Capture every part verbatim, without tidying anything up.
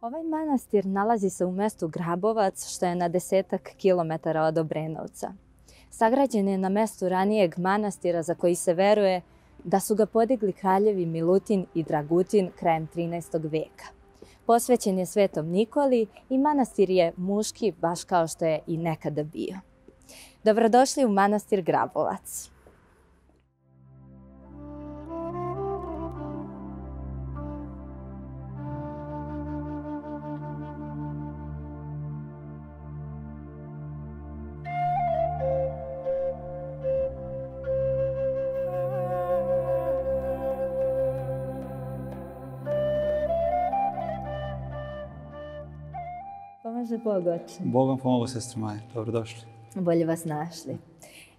Ovaj manastir nalazi se u mestu Grabovac, što je na desetak kilometara od Obrenovca. Sagrađen je na mestu ranijeg manastira za koji se veruje da su ga podigli kraljevi Milutin i Dragutin krajem trinaestog veka. Posvećen je Svetom Nikoli i manastir je muški, baš kao što je i nekada bio. Dobrodošli u manastir Grabovac. Pomaže Bog, oče. Bogom pomogu, sestre moje. Dobrodošli. Bolje vas našli.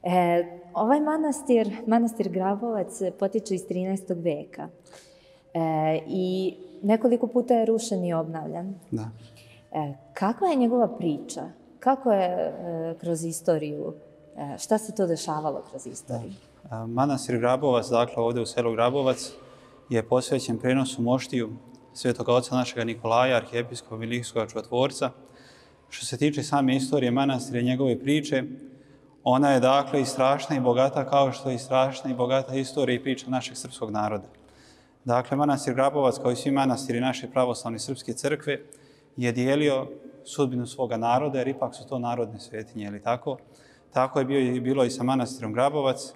E, ovaj manastir, manastir Grabovac, potiče iz trinaestog veka. E, I nekoliko puta je rušen i obnavljan. Da. E, kakva je njegova priča? Kako je e, kroz istoriju? E, šta se to dešavalo kroz istoriju? Da. Manastir Grabovac, dakle ovdje u selu Grabovac, je posvećen prenosu moštiju Svetoga oca našega Nikolaja, arhijepiskopa Milinskog čudotvorca. Što se tiče same istorije manastira i njegove priče, ona je dakle i strašna i bogata kao što je i strašna i bogata istorija i priča našeg srpskog naroda. Dakle, manastir Grabovac, kao i svi manastiri naše pravoslavne srpske crkve, je dijelio sudbinu svoga naroda, jer ipak su to narodne svetinje, ili tako? Tako je bio i bilo i sa manastirom Grabovac. E,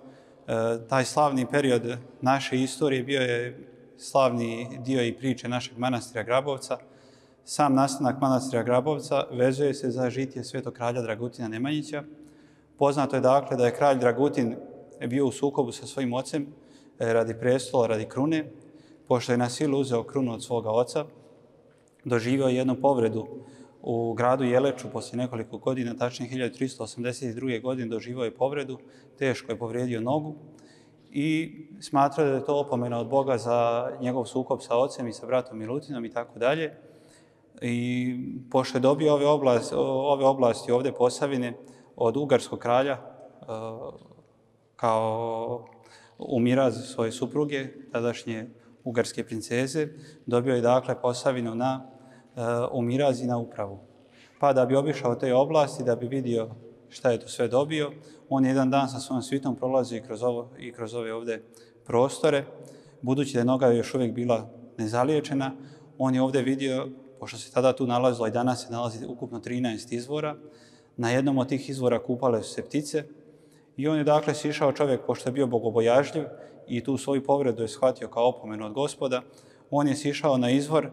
taj slavni period naše istorije bio je slavni dio i priče našeg manastira Grabovca. Sam nastanak manastira Grabovca vezuje se za žitije svetog kralja Dragutina Nemanjića. Poznato je dakle da je kralj Dragutin bio u sukobu sa svojim ocem radi prestola, radi krune. Pošto je na silu uzeo krunu od svoga oca, doživio jednu povredu u gradu Jeleču poslije nekoliko godina, tačnije hiljadu tristo osamdeset druge. godine doživio je povredu, teško je povrijedio nogu i smatrao da je to opomena od Boga za njegov sukob sa ocem i sa bratom Milutinom i tako dalje. I pošto je dobio ove oblasti, ove oblasti ovdje Posavine od ugarskog kralja kao u miraz svoje supruge, tadašnje ugarske princeze, dobio je dakle Posavinu na u miraz i na upravu. Pa da bi obišao te oblasti, da bi vidio šta je to sve dobio, on je jedan dan sa svojom svitom prolazio i kroz, ovo, i kroz ove ovdje prostore. Budući da je noga još uvijek bila nezaliječena, on je ovdje vidio, pošto se tada tu nalazilo i danas se nalazi ukupno trinaest izvora, na jednom od tih izvora kupale su se ptice i on je dakle sišao čovjek, pošto je bio bogobojažljiv i tu svoju povredu je shvatio kao opomenu od Gospoda, on je sišao na izvor, e,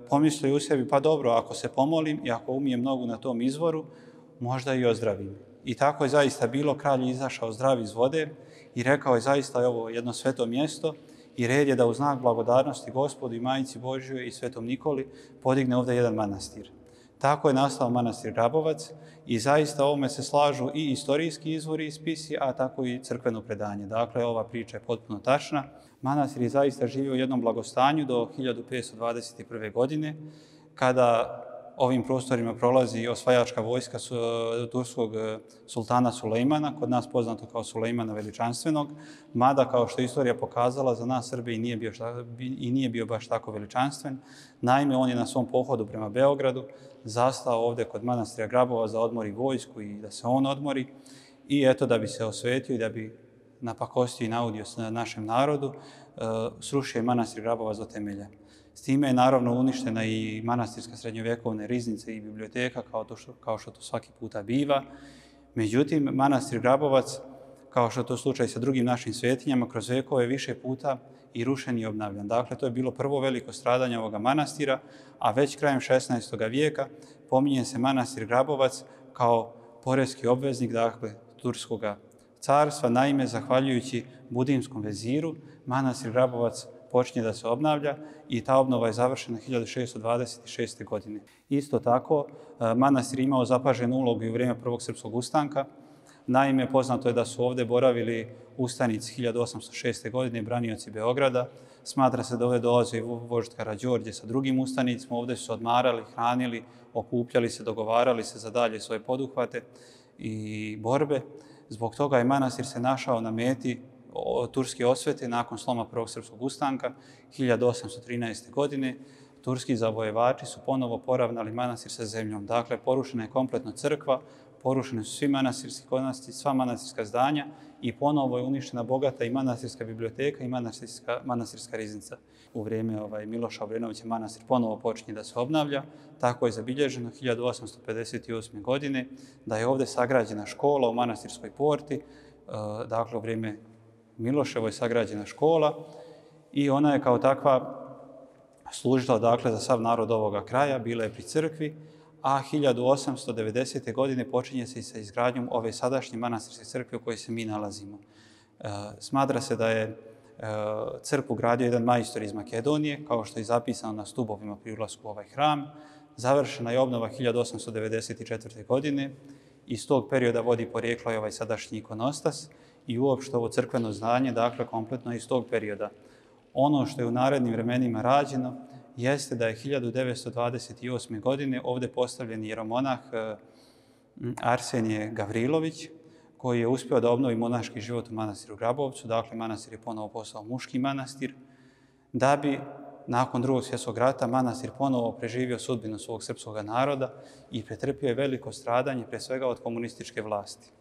pomislio u sebi, pa dobro, ako se pomolim i ako umijem nogu na tom izvoru, možda i ozdravim. I tako je zaista bilo, kralj je izašao zdrav iz vode i rekao je zaista je ovo jedno sveto mjesto i red je da u znak blagodarnosti Gospodu i Majici Božjoj i Svetom Nikoli podigne ovdje jedan manastir. Tako je nastao manastir Grabovac i zaista ovome se slažu i istorijski izvori i spisi, a tako i crkveno predanje. Dakle, ova priča je potpuno tačna. Manastir je zaista živio u jednom blagostanju do hiljadu petsto dvadeset prve. godine, kada ovim prostorima prolazi osvajačka vojska turskog sultana Sulejmana, kod nas poznato kao Sulejmana Veličanstvenog, mada kao što je istorija pokazala, za nas Srbe i nije bio, šta, i nije bio baš tako veličanstven. Naime, on je na svom pohodu prema Beogradu zastao ovdje kod manastira Grabova da odmori vojsku i da se on odmori. I eto, da bi se osvetio i da bi napakostio i naudio našem narodu, srušio je manastir Grabovac do temelja. S time je naravno uništena i manastirska srednjovjekovna riznica i biblioteka, kao, to što, kao što to svaki puta biva. Međutim, manastir Grabovac, kao što je to slučaj sa drugim našim svetinjama, kroz vekove više puta i rušen i obnavljan. Dakle, to je bilo prvo veliko stradanje ovoga manastira, a već krajem šesnaestog vijeka pominje se manastir Grabovac kao poreski obveznik, dakle, turskog carstva. Naime, zahvaljujući budimskom veziru, manastir Grabovac počinje da se obnavlja i ta obnova je završena hiljadu šesto dvadeset šeste. godine. Isto tako, manastir imao zapaženu ulogu i u vrijeme prvog srpskog ustanka. Naime, poznato je da su ovdje boravili ustanici hiljadu osamsto šeste. godine, branioci Beograda. Smatra se da ovdje dolaze i vožd Karađorđe sa drugim ustanicima. Ovdje su se odmarali, hranili, okupljali se, dogovarali se za dalje svoje poduhvate i borbe. Zbog toga je manastir se našao na meti turske osvete nakon sloma prvog srpskog ustanka hiljadu osamsto trinaeste. godine. turski zavojevači su ponovo poravnali manastir sa zemljom. Dakle, porušena je kompletno crkva, porušene su svi manastirski konasti, sva manastirska zdanja i ponovo je uništena bogata i manastirska biblioteka i manastirska, manastirska riznica. U vrijeme ovaj, Miloša Obrenovića manastir ponovo počinje da se obnavlja. Tako je zabilježeno hiljadu osamsto pedeset osme. godine da je ovdje sagrađena škola u manastirskoj porti. Dakle, u vrijeme Miloševo je sagrađena škola i ona je kao takva služila dakle, za sav narod ovoga kraja, bila je pri crkvi, a hiljadu osamsto devedesete. godine počinje se i sa izgradnjom ove sadašnje manastirske crkve u kojoj se mi nalazimo. Smatra se da je crkvu gradio jedan majstor iz Makedonije, kao što je zapisano na stubovima pri ulasku u ovaj hram. Završena je obnova hiljadu osamsto devedeset četvrte. godine. Iz tog perioda vodi porijeklo i ovaj sadašnji ikonostas i uopšte ovo crkveno zdanje, dakle, kompletno iz tog perioda. Ono što je u narednim vremenima rađeno jeste da je hiljadu devetsto dvadeset osme. godine ovdje postavljen jeromonah Arsenije Gavrilović, koji je uspio da obnovi monaški život u manastiru Grabovcu. Dakle, manastir je ponovo postao muški manastir, da bi nakon drugog svjetskog rata manastir ponovo preživio sudbinu svog srpskog naroda i pretrpio je veliko stradanje, pre svega od komunističke vlasti.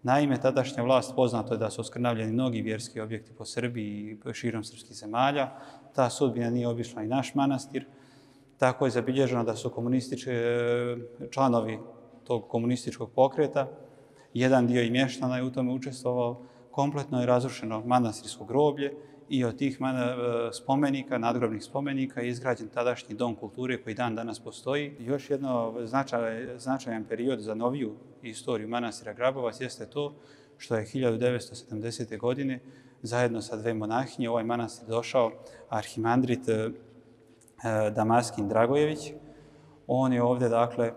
Naime, tadašnja vlast poznato je da su oskrnavljeni mnogi vjerski objekti po Srbiji i širom srpskih zemalja. Ta sudbina nije obišla i naš manastir. Tako je zabilježeno da su komunistički članovi tog komunističkog pokreta, jedan dio i mještana je u tome učestvovao, kompletno je razrušeno manastirsko groblje i od tih spomenika, nadgrobnih spomenika, je izgrađen tadašnji dom kulture koji dan danas postoji. Još jedno značaj, značajan period za noviju istoriju manastira Grabovac jeste to što je hiljadu devetsto sedamdesete. godine zajedno sa dve monahinje ovaj manastir došao arhimandrit Damaskin Dragojević. On je ovdje, dakle,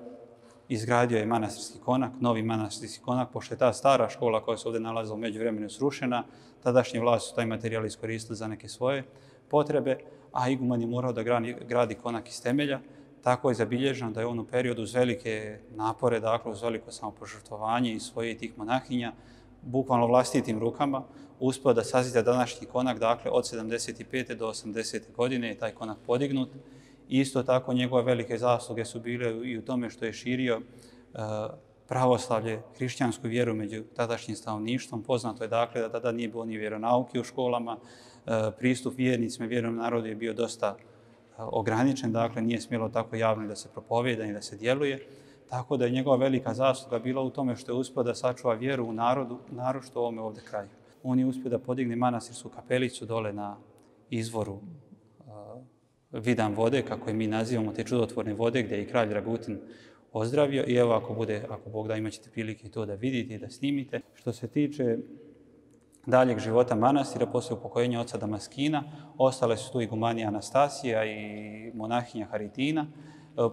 izgradio je manastirski konak, novi manastirski konak, pošto je ta stara škola koja se ovdje nalazila u međuvremenu srušena. Tadašnje vlasti su taj materijal iskoristili za neke svoje potrebe, a iguman je morao da gradi, gradi konak iz temelja. Tako je zabilježeno da je on u periodu uz velike napore, dakle uz veliko samopožrtvovanje i svoje tih monahinja, bukvalno vlastitim rukama, uspio da sazida današnji konak, dakle od sedamdeset pete. do osamdesete. godine je taj konak podignut. Isto tako njegove velike zasluge su bile i u tome što je širio pravoslavlje, hrišćansku vjeru među tadašnjim stanovništvom. Poznato je dakle da tada nije bilo ni vjeronauke u školama, pristup vjernicima i vjernom narodu je bio dosta ograničen, dakle nije smjelo tako javno da se propovijeda i da se djeluje. Tako da je njegova velika zasluga bila u tome što je uspio da sačuva vjeru u narodu, naročito u ovome ovdje kraju. On je uspio da podigne manastirsku kapelicu dole na izvoru Vidan vode, kako je mi nazivamo, te čudotvorne vode gdje je i kralj Dragutin ozdravio. I evo, ako bude, ako Bog da, imat ćete prilike to da vidite i da snimite. Što se tiče daljeg života manastira, poslije upokojenja oca Damaskina, ostale su tu igumanija Anastasija i monahinja Haritina.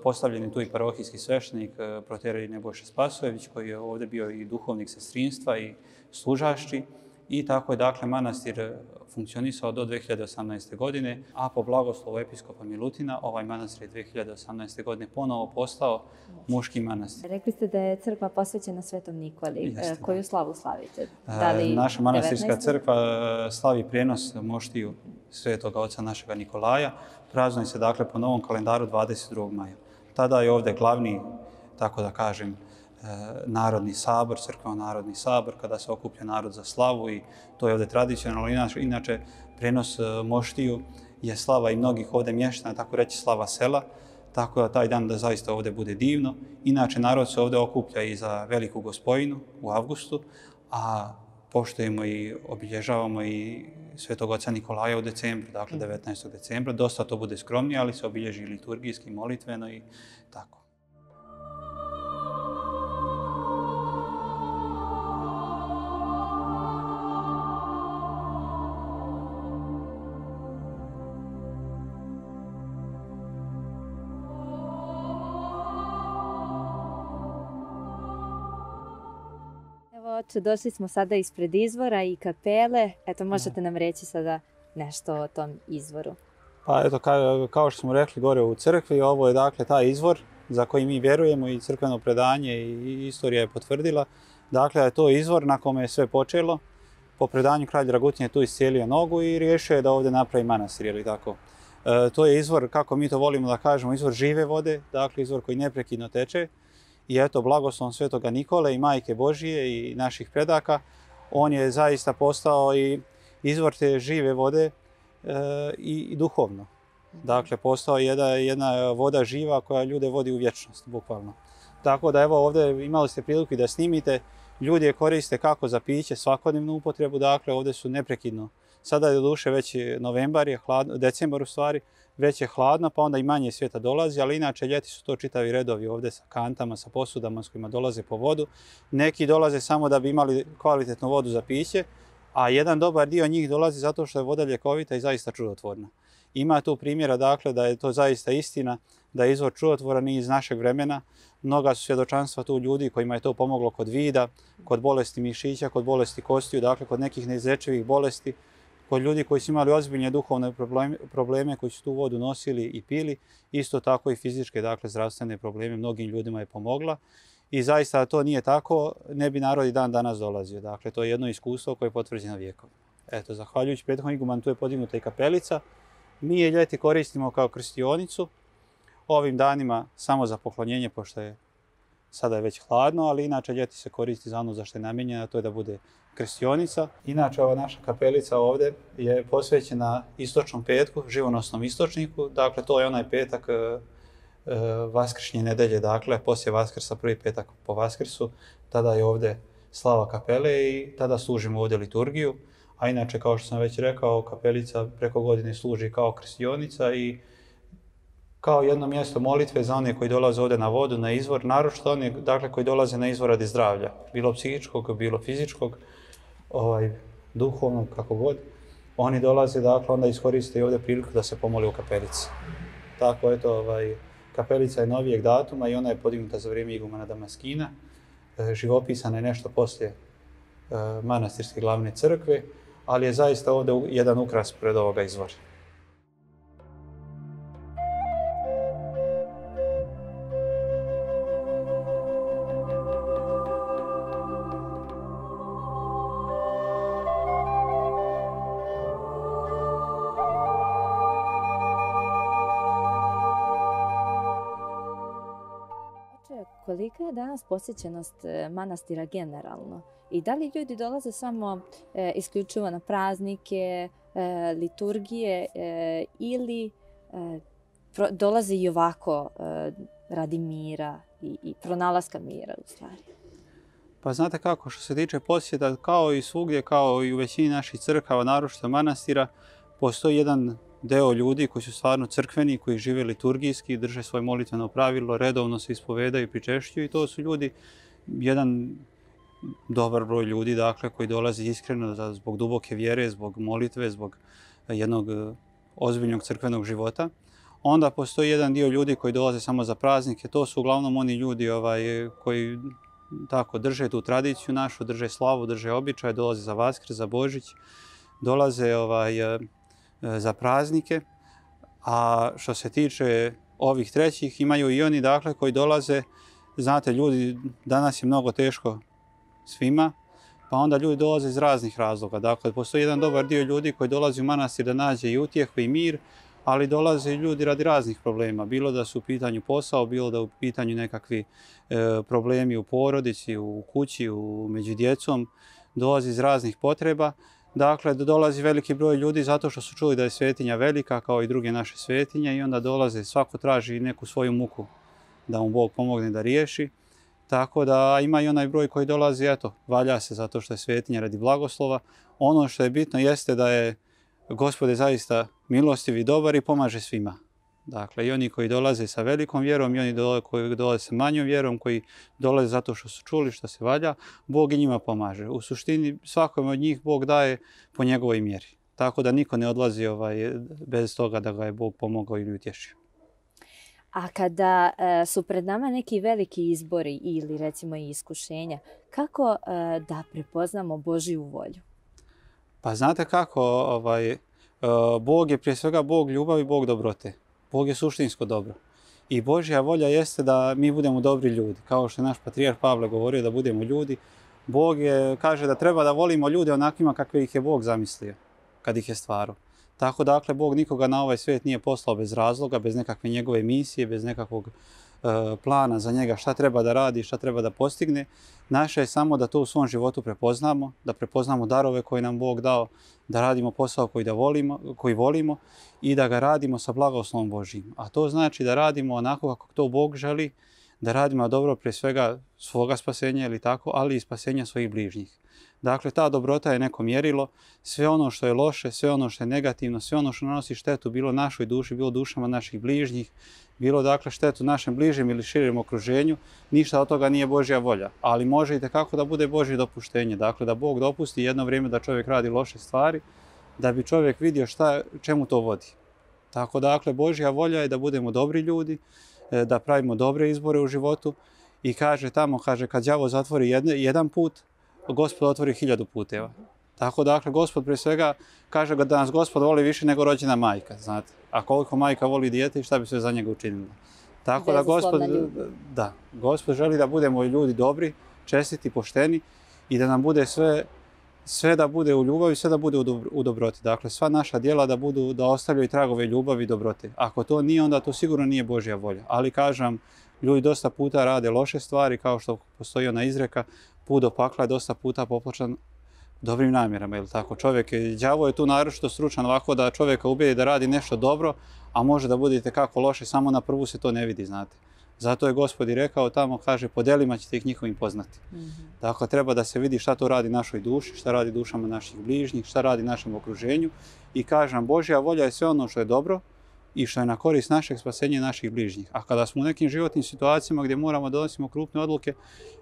Postavljen je tu i parohijski sveštenik proterij Nebojša Spasojević, koji je ovdje bio i duhovnik sestrinstva i služašći. I tako je, dakle, manastir funkcionisao do dve hiljade osamnaeste. godine, a po blagoslovu episkopa Milutina ovaj manastir je dve hiljade osamnaeste. godine ponovo postao muški manastir. Rekli ste da je crkva posvećena Svetom Nikoli. Jeste. Koju slavu slavite? Da li Naša manastirska devetnaestu? crkva slavi prijenos moštiju svetoga oca našega Nikolaja. Praznuje se, dakle, po novom kalendaru dvadeset drugog maja. Tada je ovdje glavni, tako da kažem, narodni sabor, crkveno-narodni sabor, kada se okuplja narod za slavu i to je ovdje tradicionalno. Inače, inače prenos moštiju je slava i mnogih ovdje mještana, tako reći slava sela, tako da taj dan da zaista ovdje bude divno. Inače, narod se ovdje okuplja i za Veliku Gospojinu u avgustu, a poštujemo i obilježavamo i Svetog oca Nikolaja u decembru, dakle devetnaestog decembra. Dosta to bude skromnije, ali se obilježi liturgijski, molitveno i tako. Došli smo sada ispred izvora i kapele. Eto, možete nam reći sada nešto o tom izvoru. Pa eto, kao, kao što smo rekli gore u crkvi, ovo je dakle taj izvor za koji mi vjerujemo i crkveno predanje i istorija je potvrdila. Dakle, to je izvor na kome je sve počelo. Po predanju kralj Dragutin je tu iscijelio nogu i riješio je da ovdje napravi manastir, ili tako. E, to je izvor, kako mi to volimo da kažemo, izvor žive vode, dakle izvor koji neprekidno teče. I eto, blagoslovom Svetoga Nikole i Majke Božije i naših predaka, on je zaista postao i izvor te žive vode e, i, i duhovno. Dakle, postao je jedna, jedna voda živa koja ljude vodi u vječnost, bukvalno. Tako da evo ovdje imali ste priliku da snimite, ljudi je koriste kako za piće, svakodnevnu upotrebu, dakle ovdje su neprekidno. Sada je doduše već novembar, je hladno, decembar u stvari, već je hladno, pa onda i manje svijeta dolazi, ali inače ljeti su to čitavi redovi ovdje sa kantama, sa posudama s kojima dolaze po vodu. Neki dolaze samo da bi imali kvalitetnu vodu za piće, a jedan dobar dio njih dolazi zato što je voda ljekovita i zaista čudotvorna. Ima tu primjera, dakle, da je to zaista istina, da je izvor čudotvoran i iz našeg vremena. Mnoga su svjedočanstva tu ljudi kojima je to pomoglo kod vida, kod bolesti mišića, kod bolesti kostiju, dakle kod nekih neizlječivih bolesti, kod ljudi koji su imali ozbiljne duhovne probleme, probleme koji su tu vodu nosili i pili, isto tako i fizičke, dakle zdravstvene probleme, mnogim ljudima je pomogla. I zaista to nije tako, ne bi narod i dan danas dolazio. Dakle, to je jedno iskustvo koje je potvrđeno vjekom. Eto, zahvaljujući prethodnom igumanu, tu je podignuta i kapelica. Mi je ljeti koristimo kao krstionicu, ovim danima samo za poklonjenje, pošto je sada je već hladno, ali inače ljeti se koristi za ono za što je namijenjena, to je da bude krstionica. Inače, ova naša kapelica ovdje je posvećena istočnom petku, živonosnom istočniku. Dakle, to je onaj petak e, e, vaskršnje nedelje, dakle, poslije Vaskrsa, prvi petak po Vaskrsu, tada je ovdje slava kapele i tada služimo ovdje liturgiju. A inače, kao što sam već rekao, kapelica preko godine služi kao krstionica i kao jedno mjesto molitve za one koji dolaze ovdje na vodu, na izvor, naročito one, dakle, koji dolaze na izvor radi zdravlja, bilo psihičkog, bilo fizičkog, ovaj, duhovnog, kako god. Oni dolaze, dakle, onda iskoriste i ovdje priliku da se pomoli u kapelici. Tako, eto, ovaj, kapelica je novijeg datuma i ona je podignuta za vrijeme igumana Damaskina. E, živopisana je nešto poslije e, manastirske glavne crkve, ali je zaista ovdje jedan ukras pred ovoga izvora. Kolika je danas posjećenost manastira generalno? I da li ljudi dolaze samo e, isključivo na praznike, e, liturgije e, ili e, pro, dolaze i ovako e, radi mira i, i pronalaska mira u stvari? Pa znate kako, što se tiče posjeta, kao i svugdje, kao i u većini naših crkava, naročito manastira, postoji jedan deo ljudi koji su stvarno crkveni, koji žive liturgijski, drže svoje molitveno pravilo, redovno se ispovedaju i pričešćuju i to su ljudi, jedan dobar broj ljudi, dakle, koji dolazi iskreno zbog duboke vjere, zbog molitve, zbog jednog ozbiljnog crkvenog života. Onda postoji jedan dio ljudi koji dolaze samo za praznike, to su uglavnom oni ljudi ovaj, koji tako drže tu tradiciju našu, drže slavu, drže običaj, dolaze za Vaskrs, za Božić, dolaze ovaj, za praznike, a što se tiče ovih trećih, imaju i oni, dakle, koji dolaze, znate, ljudi, danas je mnogo teško svima, pa onda ljudi dolaze iz raznih razloga. Dakle, postoji jedan dobar dio ljudi koji dolazi u manastir da nađe i utjehu i mir, ali dolaze i ljudi radi raznih problema, bilo da su u pitanju posao, bilo da u pitanju nekakvi e, problemi u porodici, u kući, u, među djecom, dolazi iz raznih potreba. Dakle, dolazi veliki broj ljudi zato što su čuli da je svetinja velika kao i druge naše svetinje i onda dolaze, svako traži neku svoju muku da mu Bog pomogne da riješi. Tako da ima i onaj broj koji dolazi, eto, valja se zato što je svetinja radi blagoslova. Ono što je bitno jeste da je Gospod je zaista milostiv i dobar i pomaže svima. Dakle, i oni koji dolaze sa velikom vjerom i oni koji dolaze sa manjom vjerom, koji dolaze zato što su čuli što se valja, Bog i njima pomaže. U suštini, svakome od njih Bog daje po njegovoj mjeri. Tako da niko ne odlazi ovaj, bez toga da ga je Bog pomogao ili utješio. A kada e, su pred nama neki veliki izbori ili recimo i iskušenja, kako e, da prepoznamo Božju volju? Pa znate kako, ovaj, Bog je prije svega Bog ljubavi, Bog dobrote. Bog je suštinsko dobro. I Božja volja jeste da mi budemo dobri ljudi. Kao što je naš patrijarh Pavle govorio da budemo ljudi, Bog je, kaže da treba da volimo ljude onakvima kakve ih je Bog zamislio kad ih je stvarao. Tako dakle, Bog nikoga na ovaj svijet nije poslao bez razloga, bez nekakve njegove misije, bez nekakvog e, plana za njega šta treba da radi, šta treba da postigne. Naše je samo da to u svom životu prepoznamo, da prepoznamo darove koje nam Bog dao, da radimo posao koji, da volimo, koji volimo i da ga radimo sa blagoslovom Božjim. A to znači da radimo onako kako to Bog želi, da radimo dobro prije svega svoga spasenja ili tako, ali i spasenja svojih bližnjih. Dakle, ta dobrota je neko mjerilo, sve ono što je loše, sve ono što je negativno, sve ono što nanosi štetu, bilo našoj duši, bilo dušama naših bližnjih, bilo dakle štetu našem bližem ili širem okruženju, ništa od toga nije Božja volja. Ali može i tekako da bude Božje dopuštenje. Dakle, da Bog dopusti jedno vrijeme da čovjek radi loše stvari, da bi čovjek vidio šta, čemu to vodi. Tako dakle, Božja volja je da budemo dobri ljudi, da pravimo dobre izbore u životu i kaže tamo, kaže, kad đavo zatvori jedne, jedan put, Gospod otvori hiljadu puteva. Tako dakle, Gospod prije svega kaže da nas Gospod voli više nego rođena majka, znate. A koliko majka voli dijete i šta bi sve za njega učinila. Tako da Gospod, da, Gospod želi da budemo ljudi dobri, čestiti, pošteni i da nam bude sve, sve da bude u ljubavi, sve da bude u, dobro, u dobroti. Dakle, sva naša djela da budu, da ostavljaju tragove ljubavi i dobrote. Ako to nije, onda to sigurno nije Božja volja. Ali kažem, ljudi dosta puta rade loše stvari, kao što postoji ona izreka, put do pakla je dosta puta popločan dobrim namjerama, ili tako? Čovjek je, đavo je tu naročito stručan ovako da čovjeka ubijedi da radi nešto dobro, a može da budete kako loše, samo na prvu se to ne vidi, znate. Zato je Gospod i rekao tamo, kaže, po djelima ćete ih njihovim poznati. Mm-hmm. Dakle, treba da se vidi šta to radi našoj duši, šta radi dušama naših bližnjih, šta radi našem okruženju. I kažem, Božja volja je sve ono što je dobro i što je na korist našeg spasenja i naših bližnjih. A kada smo u nekim životnim situacijama gdje moramo da donosimo krupne odluke,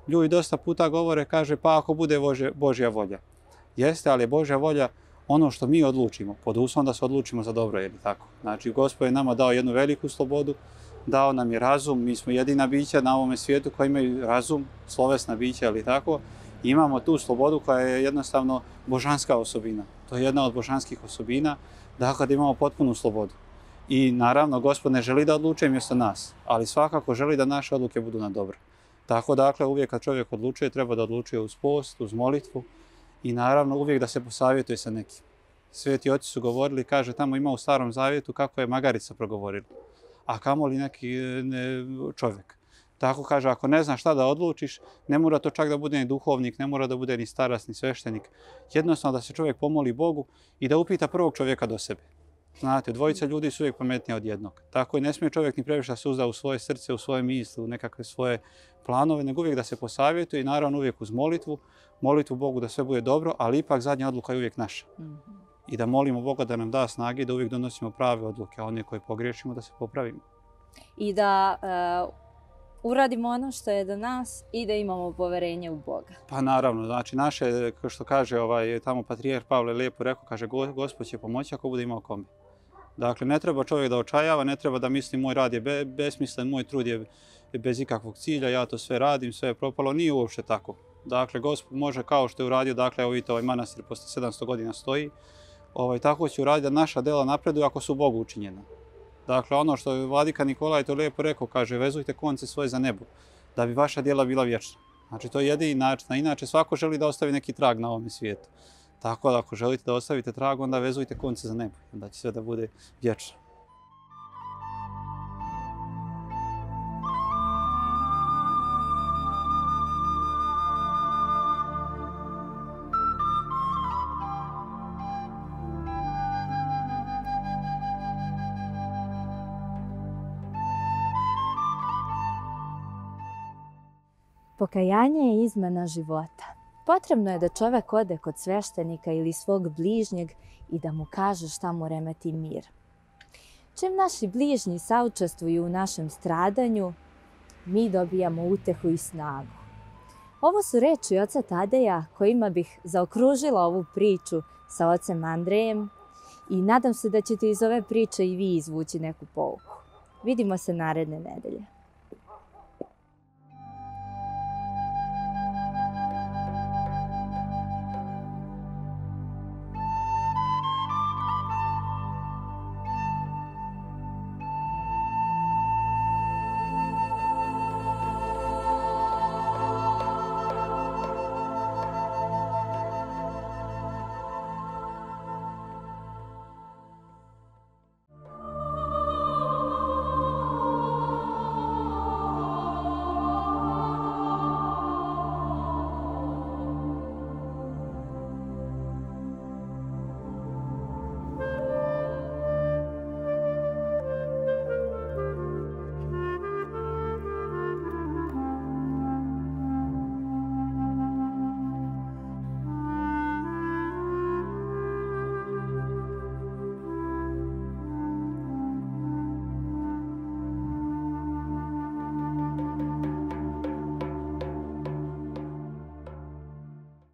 ljudi dosta puta govore, kaže, pa ako bude Božja, Božja volja. Jeste, ali je Božja volja ono što mi odlučimo, pod uslovom da se odlučimo za dobro, je li tako? Znači, Gospod je nama dao jednu veliku slobodu, dao nam je razum, mi smo jedina bića na ovome svijetu koji imaju razum, slovesna bića, ali tako. Imamo tu slobodu koja je jednostavno božanska osobina. To je jedna od božanskih osobina, dakle da imamo potpunu slobodu. I naravno, Gospod ne želi da odlučuje mjesto nas, ali svakako želi da naše odluke budu na dobro. Tako dakle, uvijek kad čovjek odlučuje, treba da odlučuje uz post, uz molitvu i naravno uvijek da se posavjetuje sa nekim. Sveti oci su govorili, kaže, tamo ima u Starom Zavjetu kako je magarica progovorila, a kamoli neki ne, čovjek. Tako kaže, ako ne znaš šta da odlučiš, ne mora to čak da bude ni duhovnik, ne mora da bude ni starac, ni sveštenik. Jednostavno da se čovjek pomoli Bogu i da upita prvog čovjeka do sebe. Znate, dvojica ljudi su uvijek pametnije od jednog. Tako i ne smije čovjek ni previše da se uzda u svoje srce, u svoje misli, u nekakve svoje planove, nego uvijek da se posavjetuje i naravno uvijek uz molitvu, molitvu Bogu da sve bude dobro, ali ipak zadnja odluka je uvijek naša. Mm-hmm. I da molimo Boga da nam da snage da uvijek donosimo prave odluke, a one koje pogriješimo da se popravimo. I da uh, uradimo ono što je do nas i da imamo poverenje u Boga. Pa naravno, znači naše, kao što kaže ovaj, tamo patrijarh Pavle lijepo rekao, kaže, Gospod će pomoći ako bude imao kome. Dakle, ne treba čovjek da očajava, ne treba da misli moj rad je be, besmislen, moj trud je bez ikakvog cilja, ja to sve radim, sve je propalo, nije uopšte tako. Dakle, Gospod može kao što je uradio, dakle, evo vidite, ovaj manastir posle sedamsto godina stoji, ovaj, tako će uraditi da naša dela napreduju ako su Bogu učinjena. Dakle, ono što je vladika Nikolaj to lijepo rekao, kaže, vezujte konce svoje za nebo, da bi vaša djela bila vječna. Znači, to je jedini način, a inače svako želi da ostavi neki trag na ovom svijetu. Tako da ako želite da ostavite trag, onda vezujte konce za nebo, onda će sve da bude vječno. Pokajanje je izmena života. Potrebno je da čovjek ode kod sveštenika ili svog bližnjeg i da mu kaže šta mu remeti mir. Čim naši bližnji saučestvuju u našem stradanju, mi dobijamo utehu i snagu. Ovo su reči oca Tadeja kojima bih zaokružila ovu priču sa ocem Andrejem i nadam se da ćete iz ove priče i vi izvući neku pouku. Vidimo se naredne nedelje.